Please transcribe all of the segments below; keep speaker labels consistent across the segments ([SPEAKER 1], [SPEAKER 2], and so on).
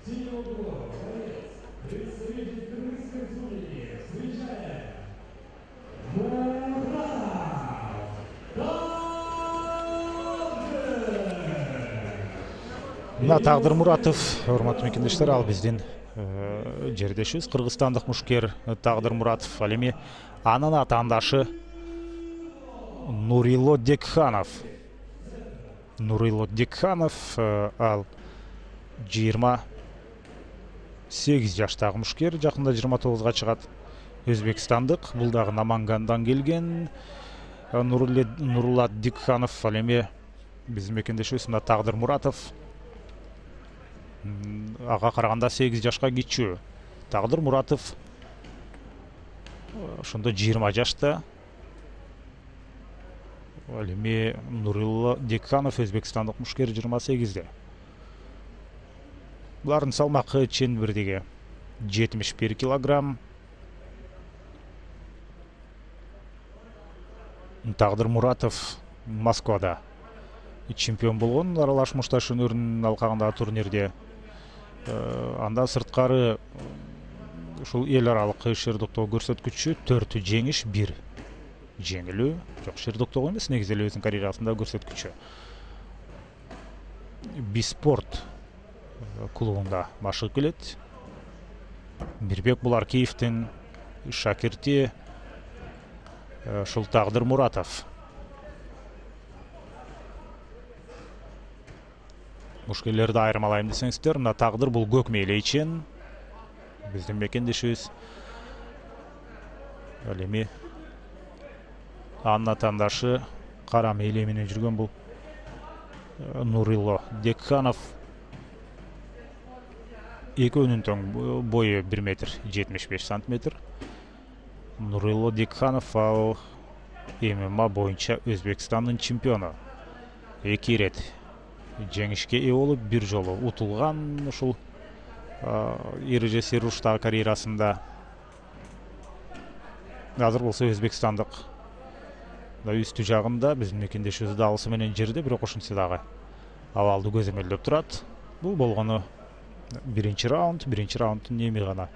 [SPEAKER 1] Мына Тагдыр Муратов, урматтуу мекендештер, ал биздин жердешибиз, кыргызстандык мушкер Тагдыр Муратов. Ал эми анын атаандашы Нурило Декханов. Нурило Декханов ал 28 жаштагы мушкер, жакында 29га чыгат. Өзбекстандык, бул дагы Намангандан келген. Нурулат Декханов, ал эми биздин мекендешибиз мына Тагдыр Муратов. Ага караганда 8 жашка кичүү. Тагдыр Муратов ошондо 20 жашта. Ал эми Нурило Декханов, өзбекстандык мушкер, 28-де. Булардын салмакы чен бирдеги 71 килограмм. Тагдыр Муратов Москвада чемпион болгон аралаш мушташ өнөрүнүн алкагындагы турнирде. Андан сырткары ушул эл аралык шердоктоо көрсөткүчү 4 жеңиш, 1 жеңилүү. Жок, шердоктоо эмес, негизи эле өзүнүн карьерасында көрсөткүчү. Биспорт клубунда машыгып келет. Мирбек Буларкиевдин шакирти ушул Тагдыр Муратов. Мушкерлерди айырмалайм десеңиздер, мына Тагдыр бул көк мээлейчен, биздин мекендешибиз. Ал эми анын атаандашы кара мээлей менен жүргөн бул Нурило Декханов. Экөөнүн тең бою 1,75 метр. Нурило Декханов ал ММА боюнча Өзбекстандын чемпиону. 2 ирет жеңишке ээ болуп, бир жолу утулган ушул эрежеси руштагы карьерасында. Азыр болсо Өзбекстандык үстү жагында биздин мекендешибиз да алысы менен жерде, бирок ошентсе дагы абалды көзөмөлдөп турат. Бул болгону биринчи раунд. Биринчи раунддун эми гана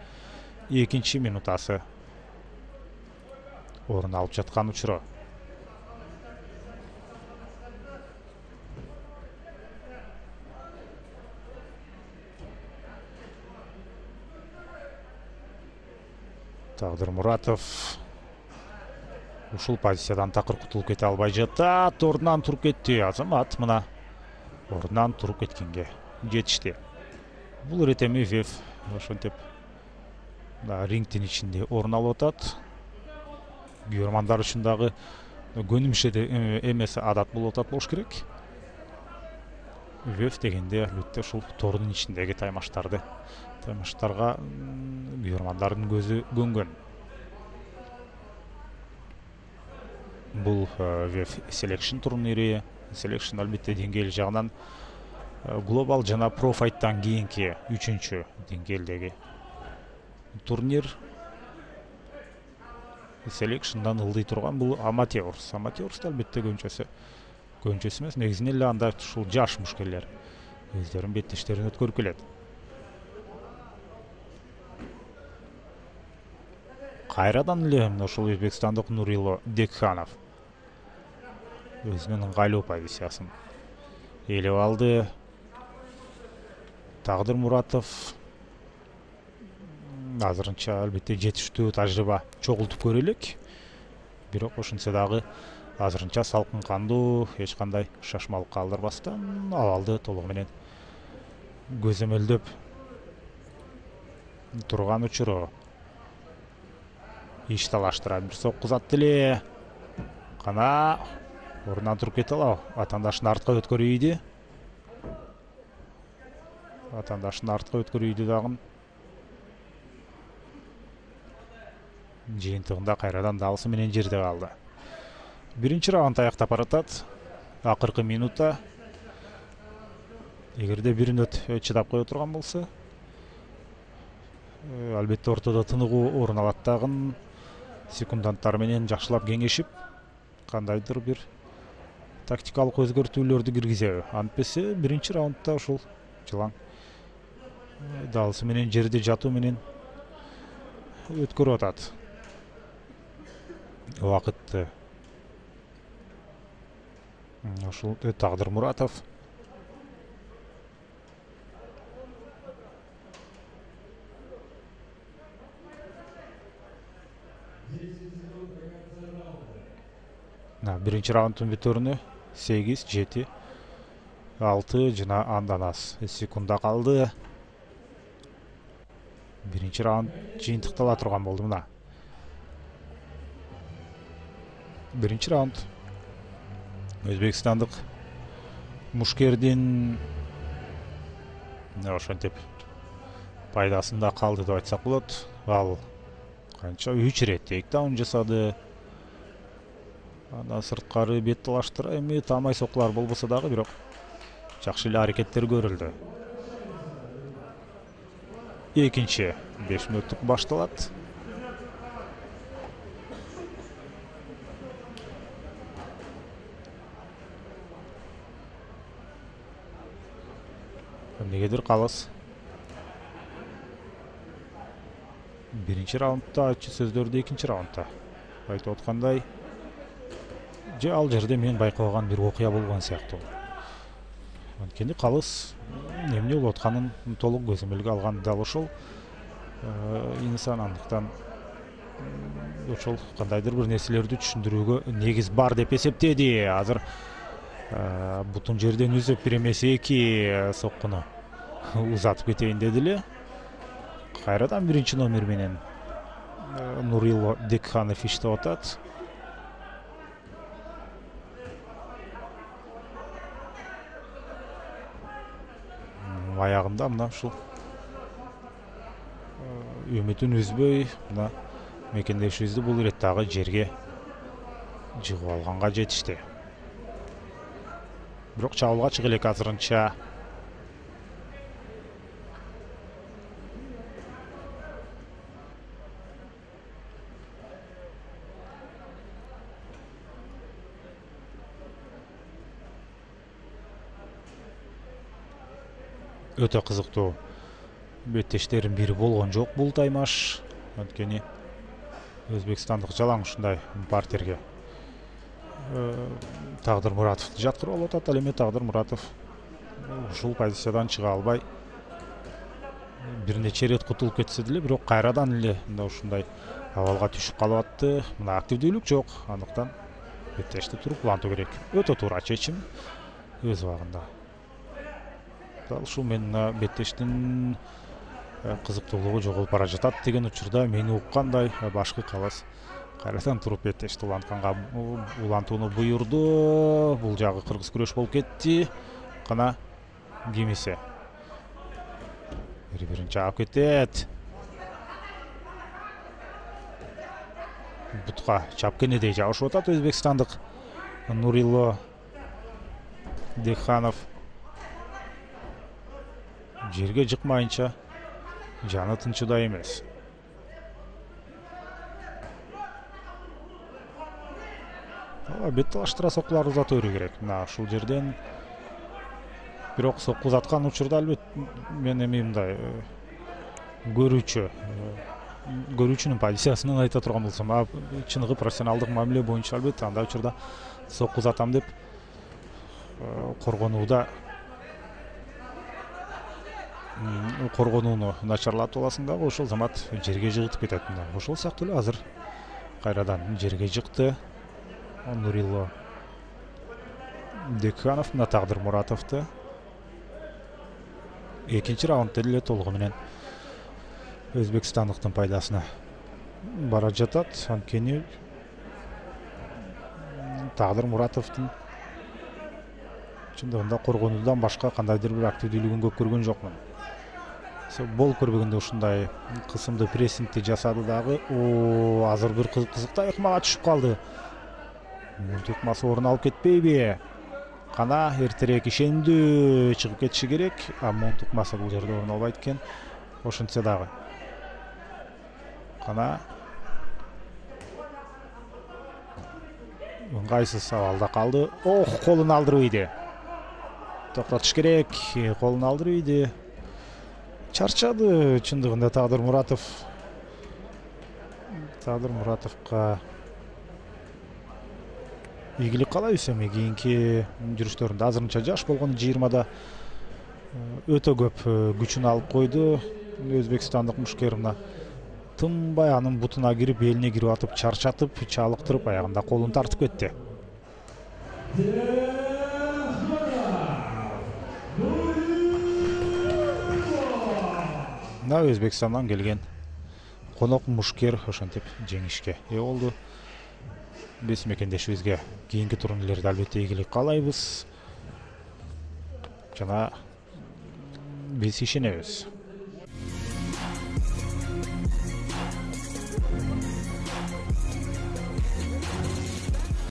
[SPEAKER 1] 2 минутасы орун алып жаткан учуру. Тагдыр Муратов ушул позициядан такыр кутулуп кете албай жатат. Ордунан туруп кетти. Азамат мына ордунан туруп кеткенге жетишти. Бул ирет эми Вев ошентип рингдин ичинде орун алып атат. Күйөрмандар үчүн дагы көнүмүшө эмес адат болуп атат болуш керек. Вев дегенде албетте ушул тордун ичиндеги таймаштарга күйөрмандардын көзү көнгөн. Бул Вев Selection турнири. Selection албетте деңгээл жагынан глобал жана профайттан кийинки 3-чү деңгээлдеги турнир. Selection'дан ылдый турган бул Amateurs. Amateurs албетте көбүнчөсү эмес, негизинен эле анда ушул жаш мушкерлер өздөрүнүн беттештерин өткөрүп келет. Кайрадан эле ушул өзбекстандык Нурило Декханов өзүнүн ыңгайлуу позициясын ээлеп алды. Тагдыр Муратов азырынча албетте жетиштүү тажрыйба чогултуп көрө элек. Бирок ошентсе дагы азырынча салкын кандуу, эч кандай шашмалык калтырбастан абалды толугу менен көзөмөлдөп турган учуру. Иш талаштырат, бир сокку узатты эле. Кана ордунан туруп кете алабы? Атаандашын артка өткөрүйдү. Дагы жыйынтыгында кайрадан далысы менен жерде калды. Биринчи раунд аяктап баратат. Акыркы минутта. Эгерде бир мүнөт чыдап кое турган болсо, албетте ортодо тыныгуу орун алат дагы. Секунданттар менен жакшылап кеңешип, кандайдыр бир тактикалык өзгөртүүлөрдү киргизеби. Антпесе биринчи раундда ушул жылаң далысы менен жерде жатуу менен өткөрүп атат убакытты. Ушул Тагдыр Муратов. Биринчи раунддун бүтөрүнө 8-7 6 жана андан аз секунда калды. Биринчи раунд жыйынтыктала турган болду. Мына биринчи раунд өзбекстандык мушкердин ошентип пайдасында калды деп айтсак болот. Ал канча 3 ирет тейктаун жасады. Андан сырткары бет талаштыра эми таамай сокулар болбосо дагы, бирок жакшы эле аракеттер көрүлдү. Экинчи 5 мүнөттүк башталат. Эмнегедир калыс. Биринчи раундда айтчу сөздөрдү экинчи раундда айтып аткандай, же ал жерде мен байкабаган бир окуя болгон сыяктуу. Анткени калыс эмне болуп атканын толук көзөмөлгө алган дал ошол инсан, андыктан ошол кандайдыр бир нерселерди түшүндүрүүгө негиз бар деп эсептеди. Азыр бутун жерден үзүп бир эмес 2 соккуну узатып кетейин деди эле. Кайрадан биринчи номер менен Нурило Декханов иштеп атат. Аягында мына ушул үмүтүн үзбөй мына мекендешибизди бул ирет дагы жерге жыгып алганга жетишти. Бирок чабуулга чыга элек азырынча. Өтө кызыктуу беттештердин бири болгон жок бул таймаш. Анткени өзбекстандык жалаң ушундай партерге Тагдыр Муратовду жаткырып алып атат. Ал эми Тагдыр Муратов ушул позициядан чыга албай бир нече ирет кутулуп кетсе деле, бирок кайрадан эле мында ушундай абалга түшүп калып атты. Мына активдүүлүк жок, андыктан беттешти туруп улантуу керек. Өтө туура чечим өз убагында. Дал ушул мен беттештин кызыктуулугу жоголуп бара жатат деген учурда мени уккандай башкы калыс кайрадан туруп беттешти улантууну буйурду. Бул жагы кыргыз күрөш болуп кетти. Кана кимисе бири-бирин чаап кетет. Бутка чапкенедей жабышып атат өзбекстандык Нурило Декханов. Жерге жыкмайынча жаны тынчыда эмес. Бет талаштыра сокулар узата берүү керек. Мына ушул жерден бирок сокку узаткан учурда албетте мен эми мындай көрүүчүнүн позициясынан айта турган болсом, чыныгы профессионалдык мамиле боюнча албетте андай учурда сокку узатам деп коргонууну начарлатып аласың дагы, ошол замат жерге жыгытып кетет. Ошол сыяктуу эле азыр кайрадан жерге жыкты Нурило Декханов. Мына Тагдыр Муратовду экинчи раундда эле толугу менен өзбекстандыктын пайдасына бара жатат. Анткени Тагдыр Муратовдун чындыгында коргонуудан башка кандайдыр бир активдүүлүгүн көп көргөн жокмун. Болуп көрбөгөндө ушундай кысымдуу прессингти жасады дагы. Азыр бир кызыктай ыкмага түшүп калды. Мун тукмасы орун алып кетпейби? Кана эртерээк ишендүү чыгып кетиши керек. Мун тукмасы бул жерде орун албайт экен. Ошентсе дагы. Кана ыңгайсыз абалда калды. Колун алдырып ийди. Токтотуш керек. Колун алдырып ийди. чарчады чындыгында Тагдыр Муратовго ийгилик каалайбыз. Эми кийинки жүрүштөрүндө азырынча жаш болгону 20да өтө көп күчүн алып койду. Өзбекстандык мушкер мына тынбай анын бутуна кирип, элине кирип атып, чарчатып, чалыктырып, аягында колун тартып кетти. Мына Өзбекстандан келген конок мушкер ошентип жеңишке ээ болду. Биз мекендешибизге кийинки турнирлерде албетте ийгилик каалайбыз жана биз ишенебиз.